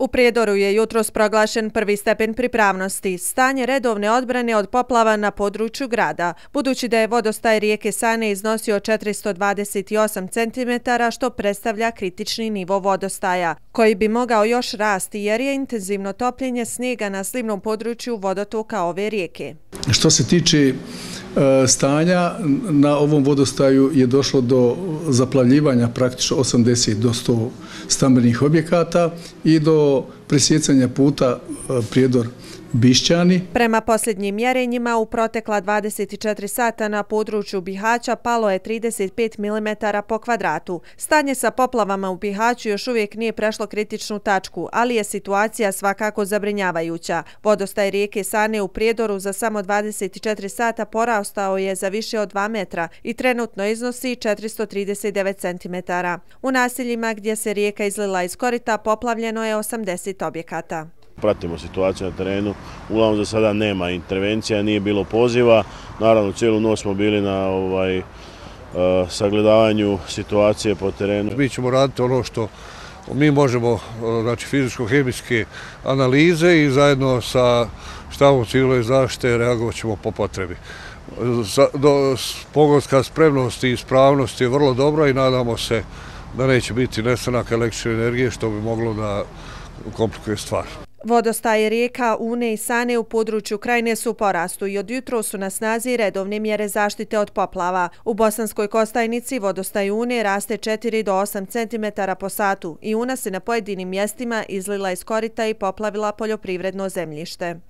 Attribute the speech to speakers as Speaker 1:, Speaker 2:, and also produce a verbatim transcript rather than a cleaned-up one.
Speaker 1: U Prijedoru je jutros proglašen prvi stepen pripravnosti, stanje redovne odbrane od poplava na području grada, budući da je vodostaj rijeke Sane iznosio četiristo dvadeset osam centimetara, što predstavlja kritični nivo vodostaja, koji bi mogao još rasti jer je intenzivno topljenje snijega na slivnom području vodotoka ove rijeke.
Speaker 2: Što se tiče stanja, na ovom vodostaju je došlo do zaplavljivanja praktično osamdeset do sto stambenih objekata i do presjecanja puta Prijedor Bišćani.
Speaker 1: Prema posljednjim mjerenjima u protekla dvadeset četiri sata na području Bihaća palo je trideset pet milimetara po kvadratu. Stanje sa poplavama u Bihaću još uvijek nije prešlo kritičnu tačku, ali je situacija svakako zabrinjavajuća. Vodostaj rijeke Sane u Prijedoru za samo dvadeset četiri sata porastao je za više od dva metra i trenutno iznosi četiristo trideset devet centimetara. U naseljima gdje se rijeka izlila iz korita poplavljeno je osamdeset objekata.
Speaker 3: Pratimo situaciju na terenu, uglavnom za sada nema intervencija, nije bilo poziva. Naravno, cijelu noć smo bili na ovaj, uh, sagledavanju situacije po terenu.
Speaker 4: Mi ćemo raditi ono što mi možemo, znači fizičko-hemijske analize i zajedno sa štabom civilne zaštite reagovat ćemo po potrebi. Pogonska spremnost i ispravnost je vrlo dobra i nadamo se da neće biti nestanak električne energije, što bi moglo da komplikuje stvar.
Speaker 1: Vodostaje rijeka Une i Sane u području Krajine su u porastu i od jutros su na snazi redovne mjere zaštite od poplava. U Bosanskoj Kostajnici vodostaj Une raste četiri do osam centimetara po satu i Una se na pojedinim mjestima izlila iz korita i poplavila poljoprivredno zemljište.